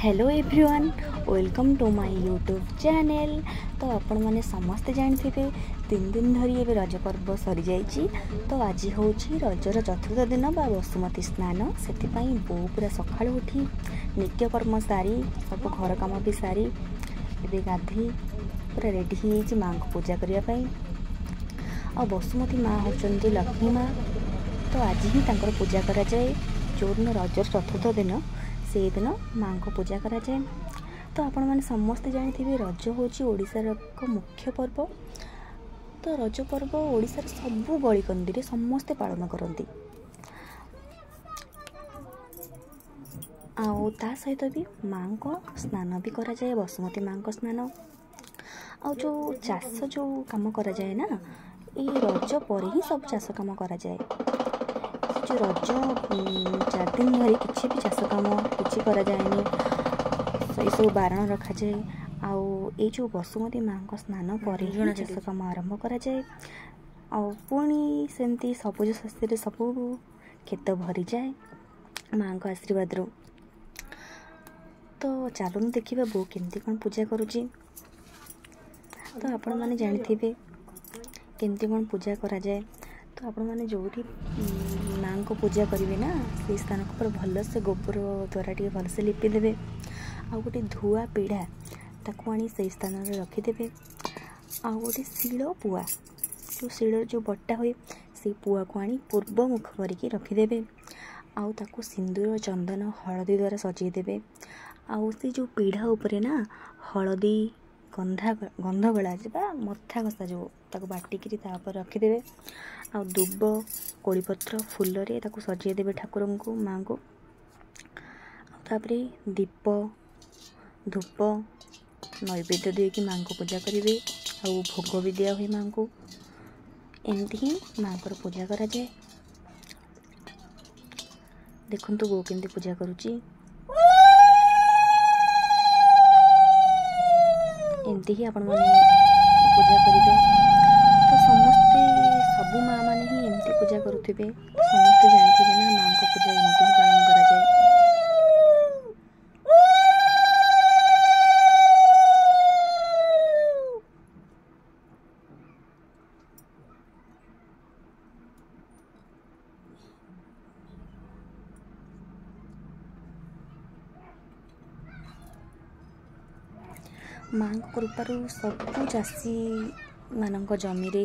Hello everyone, welcome to my YouTube channel. ତ ଆପଣମାନେ ସମସ୍ତେ ଜାଣିଥିବେ, 3 ଦିନ ଧରି ଏବେ ରଜ ପର୍ବ ସରିଯାଇଛି। ତ ଆଜି ହେଉଛି ରଜର ଚତୁର୍ଥ ଦିନ ବା ବସୁମତୀ ସ୍ନାନ। ସେଥିପାଇଁ ବୋଉ ପୁରା ସକାଳୁ ଉଠି ନିତ୍ୟକର୍ମ ସାରି, ସବୁ ଘର କାମ ବି ସାରି, ଏବେ ଗାଧେଇ ପୁରା ରେଡ଼ି ହେଇଯାଇଛି ମାଆଙ୍କୁ ପୂଜା କରିବା ପାଇଁ। ଆଉ ବସୁମତୀ ମା ହେଉଛନ୍ତି ଲକ୍ଷ୍ମୀ ମା। ତ ଆଜି ହିଁ ତାଙ୍କର ପୂଜା କରାଯାଏ। ଯେଉଁଦିନ ରଜର ଚତୁର୍ଥ ଦିନ, ସେଇଦିନ ମାଆଙ୍କ ପୂଜା କରାଯାଏ। ତ ଆପଣମାନେ ସମସ୍ତେ ଜାଣିଥିବେ, ରଜ ହେଉଛି ଓଡ଼ିଶାର ଏକ ମୁଖ୍ୟ ପର୍ବ। ତ ରଜ ପର୍ବ ଓଡ଼ିଶାର ସବୁ ଗଳିକନ୍ଦିରେ ସମସ୍ତେ ପାଳନ କରନ୍ତି। ଆଉ ତା ସହିତ ବି ମାଆଙ୍କ ସ୍ନାନ ବି କରାଯାଏ, ବସୁମତୀ ମାଆଙ୍କ ସ୍ନାନ। ଆଉ ଯେଉଁ ଚାଷ ଯେଉଁ କାମ କରାଯାଏ ନା, ଏଇ ରଜ ପରେ ହିଁ ସବୁ ଚାଷ କାମ କରାଯାଏ। ସେ ଯେଉଁ ରଜ 4 ଦିନ ଧରି କିଛି ବି ଚାଷ କାମ କିଛି କରାଯାଏନି, ଏସବୁ ବାରଣ ରଖାଯାଏ। ଆଉ ଏଇ ଯେଉଁ ବସୁମତୀ ମାଆଙ୍କ ସ୍ନାନ ପରେ ହିଁ ଚାଷ କାମ ଆରମ୍ଭ କରାଯାଏ। ଆଉ ପୁଣି ସେମିତି ସବୁଜ ଶସ୍ୟରେ ସବୁ କ୍ଷେତ ଭରିଯାଏ ମାଆଙ୍କ ଆଶୀର୍ବାଦରୁ। ତ ଚାଲୁନ ଦେଖିବା ବୋଉ କେମିତି କ'ଣ ପୂଜା କରୁଛି। ତ ଆପଣମାନେ ଜାଣିଥିବେ କେମିତି କ'ଣ ପୂଜା କରାଯାଏ। ତ ଆପଣମାନେ ଯେଉଁଠି ମାଆଙ୍କ ପୂଜା କରିବେ ନା, ସେଇ ସ୍ଥାନକୁ ପୁରା ଭଲସେ ଗୋବର ଦ୍ୱାରା ଟିକେ ଭଲସେ ଲିପି ଦେବେ। ଆଉ ଗୋଟେ ଧୁଆ ପିଢ଼ା, ତାକୁ ଆଣି ସେଇ ସ୍ଥାନରେ ରଖିଦେବେ। ଆଉ ଗୋଟେ ଶିଳ ପୁଆ, ଯେଉଁ ଶିଳରେ ଯେଉଁ ବଟା ହୁଏ, ସେଇ ପୁଆକୁ ଆଣି ପୂର୍ବ ମୁଖ କରିକି ରଖିଦେବେ। ଆଉ ତାକୁ ସିନ୍ଦୁର, ଚନ୍ଦନ, ହଳଦୀ ଦ୍ୱାରା ସଜେଇ ଦେବେ। ଆଉ ସେ ଯେଉଁ ପିଢ଼ା ଉପରେ ନା ହଳଦୀ ଗନ୍ଧା ଗନ୍ଧଗୋଳା ବା ମଥା ଘଷା ଯେଉଁ, ତାକୁ ବାଟିକିରି ତା ଉପରେ ରଖିଦେବେ। ଆଉ ଦୁବ, କୋଳିପତ୍ର, ଫୁଲରେ ତାକୁ ସଜେଇ ଦେବେ ଠାକୁରଙ୍କୁ, ମାଆଙ୍କୁ। ଆଉ ତାପରେ ଦୀପ, ଧୂପ, ନୈବେଦ୍ୟ ଦେଇକି ମାଆଙ୍କୁ ପୂଜା କରିବେ। ଆଉ ଭୋଗ ବି ଦିଆ ହୁଏ ମାଆଙ୍କୁ। ଏମିତି ହିଁ ମାଆଙ୍କର ପୂଜା କରାଯାଏ। ଦେଖନ୍ତୁ ବୋଉ କେମିତି ପୂଜା କରୁଛି। ଏମିତି ହିଁ ଆପଣମାନେ ପୂଜା କରିବେ। ତ ସମସ୍ତେ, ସବୁ ମାଆ ମାନେ ହିଁ ଏମିତି ପୂଜା କରୁଥିବେ। ସମସ୍ତେ ଜାଣିଥିବେ ନା, ମାଆଙ୍କ ପୂଜା ଏମିତି ହିଁ ପାଳନ କରାଯାଏ। ମାଆଙ୍କ କୃପାରୁ ସବୁ ଚାଷୀମାନଙ୍କ ଜମିରେ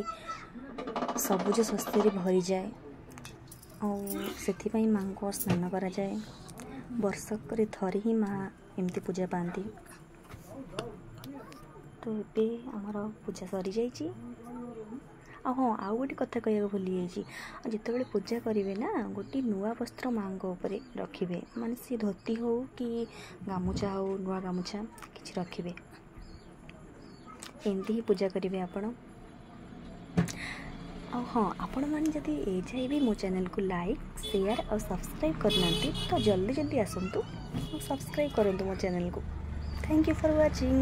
ସବୁଜ ଶସ୍ୟରେ ଭରିଯାଏ। ଆଉ ସେଥିପାଇଁ ମାଆଙ୍କ ସ୍ନାନ କରାଯାଏ। ବର୍ଷକରେ ଥରେ ହିଁ ମା ଏମିତି ପୂଜା ପାଆନ୍ତି। ତ ଏବେ ଆମର ପୂଜା ସରିଯାଇଛି। ଆଉ ହଁ, ଆଉ ଗୋଟେ କଥା କହିବାକୁ ଭୁଲି ଯାଇଛି। ଆଉ ଯେତେବେଳେ ପୂଜା କରିବେ ନା, ଗୋଟେ ନୂଆ ବସ୍ତ୍ର ମାଆଙ୍କ ଉପରେ ରଖିବେ। ମାନେ ସେ ଧୋତି ହଉ କି ଗାମୁଛା ହଉ, ନୂଆ ଗାମୁଛା କିଛି ରଖିବେ। ଏମିତି ହିଁ ପୂଜା କରିବେ ଆପଣ। ଆଉ ହଁ, ଆପଣମାନେ ଯଦି ଏ ଯାଏ ବି ମୋ ଚ୍ୟାନେଲକୁ ଲାଇକ୍, ସେୟାର ଆଉ ସବସ୍କ୍ରାଇବ୍ କରିନାହାନ୍ତି, ତ ଜଲ୍ଦି ଜଲ୍ଦି ଆସନ୍ତୁ ଆଉ ସବସ୍କ୍ରାଇବ୍ କରନ୍ତୁ ମୋ ଚ୍ୟାନେଲକୁ। Thank you for watching.